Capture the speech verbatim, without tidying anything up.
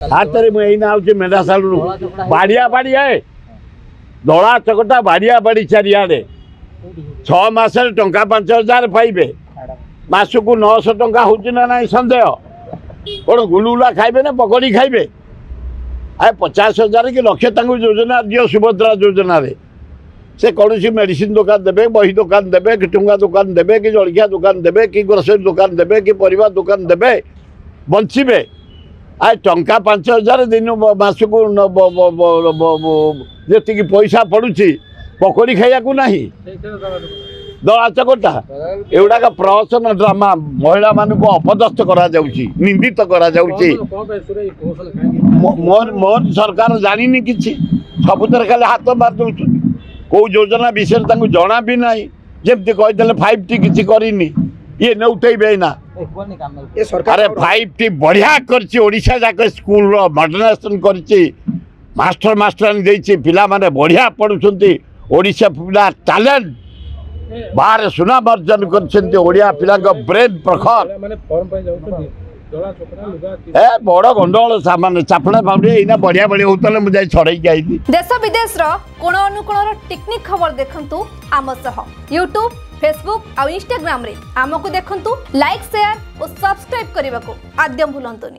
ହାତରେ ମୁଁ ଏଇନା ଆଉଛି ମେଣ୍ଢାଶାଳରୁ ବାଡ଼ିଆ ବାଡ଼ିଆ ଦଳା ଚକଟା ବାଡ଼ିଆ ବାଡ଼ି ଚାରିଆଡ଼େ। ଛଅ ମାସରେ ଟଙ୍କା ପାଞ୍ଚ ହଜାର ପାଇବେ, ମାସକୁ ନଅଶହ ଟଙ୍କା ହେଉଛି ନା ନାହିଁ ସନ୍ଦେହ। କ'ଣ ଗୁଲୁଗୁଲା ଖାଇବେ ନା ପକୋଡ଼ି ଖାଇବେ? ଆ ପଚାଶ ହଜାର କି ଲକ୍ଷେ ତାଙ୍କୁ ଯୋଜନା ଦିଅ ସୁଭଦ୍ରା ଯୋଜନାରେ। ସେ କୌଣସି ମେଡ଼ିସିନ ଦୋକାନ ଦେବେ, ବହି ଦୋକାନ ଦେବେ, କି ଠୁଙ୍ଗା ଦୋକାନ ଦେବେ, କି ଜଳଖିଆ ଦୋକାନ ଦେବେ, କି ଗ୍ରୋସରୀ ଦୋକାନ ଦେବେ, କି ପରିବା ଦୋକାନ ଦେବେ, ବଞ୍ଚିବେ। ଆ ଟଙ୍କା ପାଞ୍ଚ ହଜାର ଦିନ ମାସକୁ ଯେତିକି ପଇସା ପଡ଼ୁଛି ପକୋଡ଼ି ଖାଇବାକୁ ନାହିଁ। ଦଳା ଚକଟା ଏଗୁଡ଼ାକ ପ୍ରହସନ ଡ୍ରାମା। ମହିଳାମାନଙ୍କୁ ଅପଦସ୍ଥ କରାଯାଉଛି, ନିନ୍ଦିତ କରାଯାଉଛି। ମୋହନ ମୋହନ ସରକାର ଜାଣିନି କିଛି, ସବୁଥିରେ ଖାଲି ହାତ ମାରି ଦେଉଛନ୍ତି। କେଉଁ ଯୋଜନା ବିଷୟରେ ତାଙ୍କୁ ଜଣା ବି ନାହିଁ। ଯେମିତି କହିଦେଲେ ଫାଇଭ୍ ଟି କିଛି କରିନି, ଇଏ ନେଉଟେଇବେ ଏଇନା। ଆରେ ଫାଇଭ୍ ଟି ବଢ଼ିଆ କରିଛି, ଓଡ଼ିଶା ଯାକ ସ୍କୁଲର ମଡର୍ଣ୍ଣାଇଜେସନ୍ କରିଛି, ମାଷ୍ଟର ମାଷ୍ଟରାଣୀ ଦେଇଛି, ପିଲାମାନେ ବଢ଼ିଆ ପଢ଼ୁଛନ୍ତି। ଓଡ଼ିଶା ପିଲା ଟ୍ୟାଲେଣ୍ଟ ବାହାରେ ସୁନାମ ଅର୍ଜନ କରିଛନ୍ତି। ଓଡ଼ିଆ ପିଲାଙ୍କ ବ୍ରେନ୍ ପ୍ରଖର। ଏ ବଡ଼ ଗଣ୍ଡଗୋଳ ସାମାନ ଚାପଡ଼ା ଫାପଡ଼ି ଏଇନା ବଢ଼ିଆ ବଢ଼ିଆ ହଉଥିଲେ, ମୁଁ ଯାଇ ଛଡ଼େଇକି ଆଇଲି। ଦେଶ ବିଦେଶର କୋଣ ଅନୁକୋଣର ଟିକିନିଖି ଖବର ଦେଖନ୍ତୁ ଆମ ସହ ୟୁଟ୍ୟୁବ୍, ଫେସବୁକ୍ ଆଉ ଇନଷ୍ଟାଗ୍ରାମରେ ଆମକୁ ଦେଖନ୍ତୁ। ଲାଇକ୍, ସେୟାର ଓ ସବସ୍କ୍ରାଇବ୍ କରିବାକୁ ଆଦ୍ୟ ଭୁଲନ୍ତୁନି।